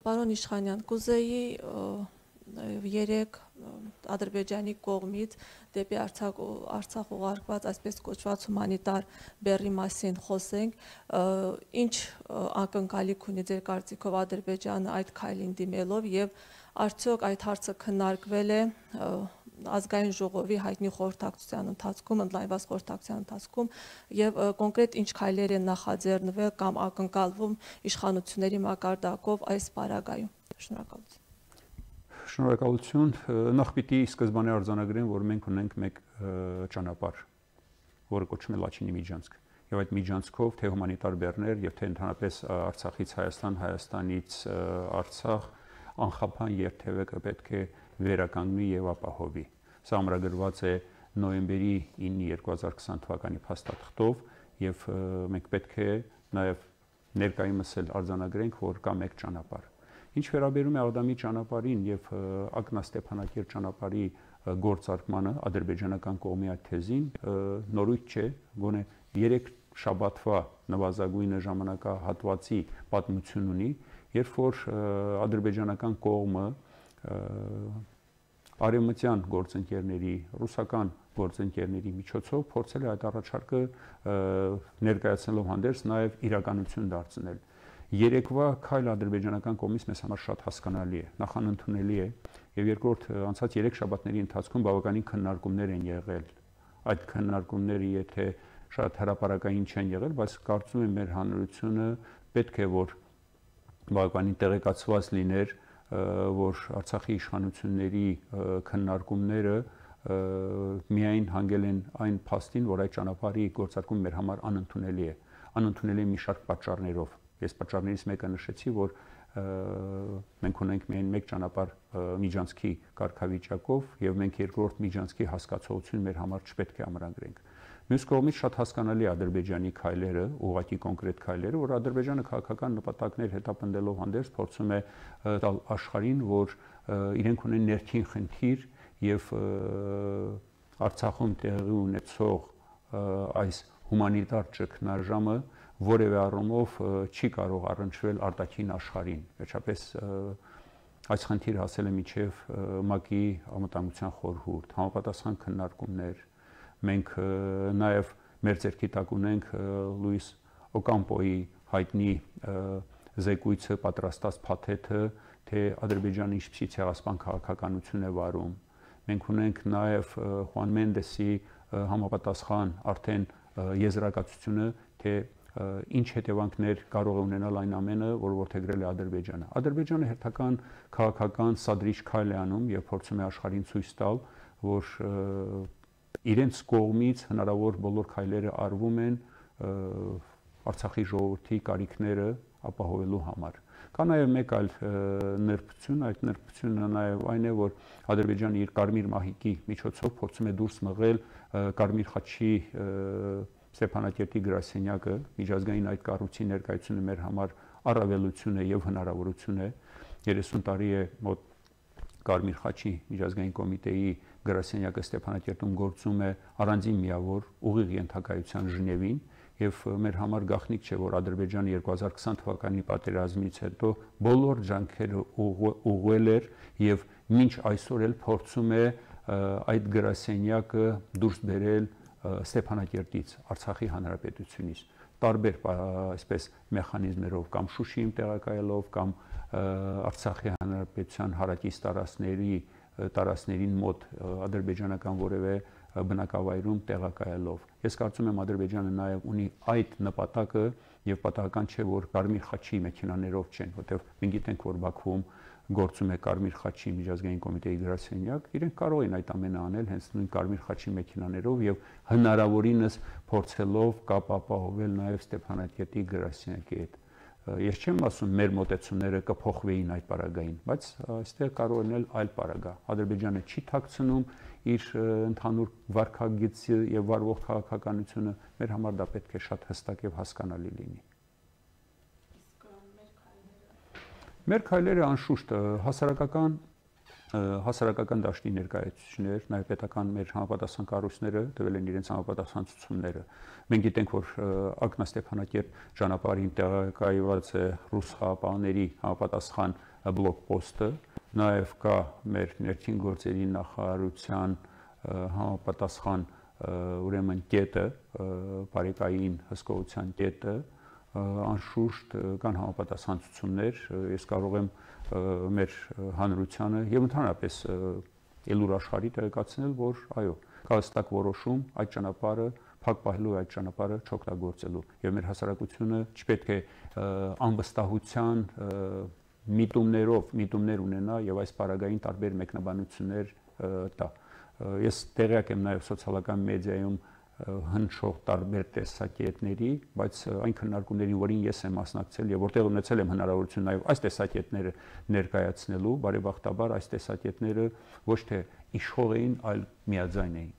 Պարոն Իշխանյան, կուզեի երեք Ադրբեջանի կողմից դեպի Արցախ ուղարկված այսպես կոչված հումանիտար բեռի մասին խոսենք, ինչ ակնկալիք ունի ձեր կարծիքով Ադրբեջանը այդ քայլին դիմելով եւ արդյոք այդ հարցը քննարկվել է ազգային ժողովի հայտնի խորհրդակցության ընթացքում, ընդլայնված խորհրդակցության ընթացքում եւ կոնկրետ ինչ քայլեր են նախաձեռնվել կամ ակնկալվում իշխանությունների մակարդակով այս պարագայում։ Շնորհակալություն։ Շնորհակալություն։ Նախ պիտի սկզբանե արձանագրեմ, որ մենք ունենք մեկ ճանապարհ, որը կոչվում է Լաչինի միջանցք։ Եվ այդ միջանցքով թե հումանիտար բեռներ եւ թե ընդհանրապես Արցախից Հայաստան, Հայաստանից Արցախ անխափան երթևեկը պետք է վերականգնվի եւ ապահովի։ Սա ամրագրված է նոյեմբերի 9-ի 2020 թվականի փաստաթղթով եւ մենք պետք է նաեւ ներկայումս էլ արձանագրենք, որ կա մեկ ճանապարհ։ Ինչ վերաբերում է Աղդամի ճանապարհին եւ Ակնա-Ստեփանակերտ ճանապարհի գործարկմանը ադրբեջանական կողմի այդ թեզին նորույթ չէ, գոնե 3 շաբաթվա նվազագույնը ժամանակահատվածի պատմություն ունի, երբ որ ադրբեջանական կողմը արևմտյան գործընկերների, ռուսական գործընկերների միջոցով փորձել է այդ առաջարկը ներկայացնելով հանդերձ նաեւ իրականություն դարձնել։ Երեկվա քայլը ադրբեջանական կողմից մեզ համար շատ հասկանալի է, նախանընդունելի է եւ երկրորդ անցած 3 շաբաթների ընթացքում բավականին քննարկումներ են եղել։ Այդ քննարկումները եթե շատ հրապարակային չեն եղել, բայց կարծում եմ մեր հանրությունը պետք է որ բավականին տեղեկացված լիներ, որ Արցախի իշխանությունների քննարկումները միայն հանգել են այն փաստին, որ այդ ճանապարհի գործարկումը մեր համար անընդունելի է։ Անընդունելի է մի շարք պատճառներով։ Ես պատճառներից մեկը նշեցի, որ մենք ունենք միայն մեկ ճանապարհ միջանցքի կարգավիճակով եւ մենք երկրորդ միջանցքի հասկացողություն մեր համար չպետք է ամրագրենք։ Մյուս կողմից շատ հասկանալի է Ադրբեջանի քայլերը, ուղղակի կոնկրետ քայլերը, որ Ադրբեջանը քաղաքական նպատակներ հետապնդելով հանդերձ փորձում է տալ աշխարհին, որ իրենք ունեն ներքին խնդիր եւ Արցախում տեղի ունեցող այս հումանիտար ճգնաժամը որևէ առումով չի կարող առնչվել արտաքին աշխարհին։ Վերջապես այս խնդիրը հասել է մինչև ՄԱԿ-ի անվտանգության խորհուրդ, համապատասխան քննարկումներ։ Մենք նաև մեր ձեռքի տակ ունենք Լուիս Օկամպոյի հայտնի զեկույցը պատրաստած փաթեթը, թե Ադրբեջանը ինչպիսի ցեղասպան քաղաքականություն է վարում։ Մենք ունենք նաև Խուան Մենդեսի համապատասխան արդեն եզրակացությունը, թե ինչ հետևանքներ կարող է ունենալ այն ամենը, որ որդեգրել է Ադրբեջանը։ Ադրբեջանը հերթական քաղաքական սադրիչ քայլ է անում եւ փորձում է աշխարհին ցույց տալ, որ իրենց կողմից հնարավոր բոլոր քայլերը արվում են Արցախի ժողովրդի կարիքները ապահովելու համար։ Կա նաև մեկ այլ նրբություն, այդ նրբությունը նաև այն է, որ Ադրբեջանը իր Կարմիր մահիկի միջոցով փորձում է դուրս մղել Կարմիր խաչի Ստեփանակերտի գրասենյակը, միջազգային այդ կառույցի ներկայությունը մեր համար առավելություն է եւ հնարավորություն է։ 30 տարի է մոտ Կարմիր խաչի միջազգային կոմիտեի գրասենյակը Ստեփանակերտում գործում է առանձին միավոր ուղիղ ենթակայության Ժնևին եւ մեր համար գաղտնիք չէ, որ Ադրբեջանը 2020 թվականի պատերազմից հետո բոլոր ջանքերը ուղղել էր եւ մինչ այսօր էլ փորձում է այդ գրասենյակը դուրս բերել Ստեփանակերտից, Արցախի հանրապետությունից, տարբեր այսպես մեխանիզմերով կամ Շուշիում տեղակայելով կամ Արցախի հանրապետության հարակից տարածքներին մոտ ադրբեջանական որևէ բնակավայրում տեղակայելով։ Ես կարծում եմ Ադրբեջանը նաև ունի այդ նպատակը եւ պատահական չէ, որ Կարմիր խաչի մեքենաներով չեն, որտեղ մենք գիտենք, որ Բաքվում գործում է Կարմիր խաչի միջազգային կոմիտեի գրասենյակ, իրենք կարող են այդ ամենը անել հենց նույն Կարմիր խաչի մեքենաներով եւ հնարավորինս փորձելով կապ ապահովել նաեւ Ստեփանակերտի գրասենյակի հետ։ Ես չեմ ասում մեր մոտեցումները կփոխվեին այդ պարագային, բայց այստեղ կարող են այլ պարագա։ Ադրբեջանը չի թաքցնում իր ընդհանուր վարքագիծը եւ վարվող քաղաքականությունը, մեր համար դա պետք է շատ հստակ եւ հասկանալի լինի։ Մեր քայլերը անշուշտ հասարակական դաշտի ներկայացուցիչներ, նաև պետական մեր համապատասխան կառույցները տվել են իրենց համապատասխան ցուցումները։ Մենք գիտենք, որ Ակնա-Ստեփանակերտ ճանապարհին տեղակայված է ռուս խաղաղապահների համապատասխան բլոգ-պոստը, նաև կա մեր ներքին գործերի նախարարության համապատասխան ուրեմն կետը, բարեկային հսկողության կետը, անշուշտ կան համապատասխան ցուցումներ, ես կարող եմ մեր հանրությանը եւ ընդհանրապես ելուր աշխարհի տեղեկացնել, որ այո, կա հստակ որոշում այդ ճանապարհը փակ պահելու այդ ճանապարհը չօգտագործելու եւ մեր հասարակությունը չպետք է անվստահության միտումներ ունենա եւ այս պարագային տարբեր մեկնաբանություններ տա։ Ես տեղյակ եմ նաեւ սոցիալական մեդիայում հնչող տարբեր տեսակետների, բայց այն քննարկումներին, որին ես եմ մասնակցել եւ որտեղ ունեցել եմ հնարավորություն նաեւ այս տեսակետները ներկայացնելու, բարեբախտաբար այս տեսակետները ոչ թե իշխող էին, այլ միաձայն էին։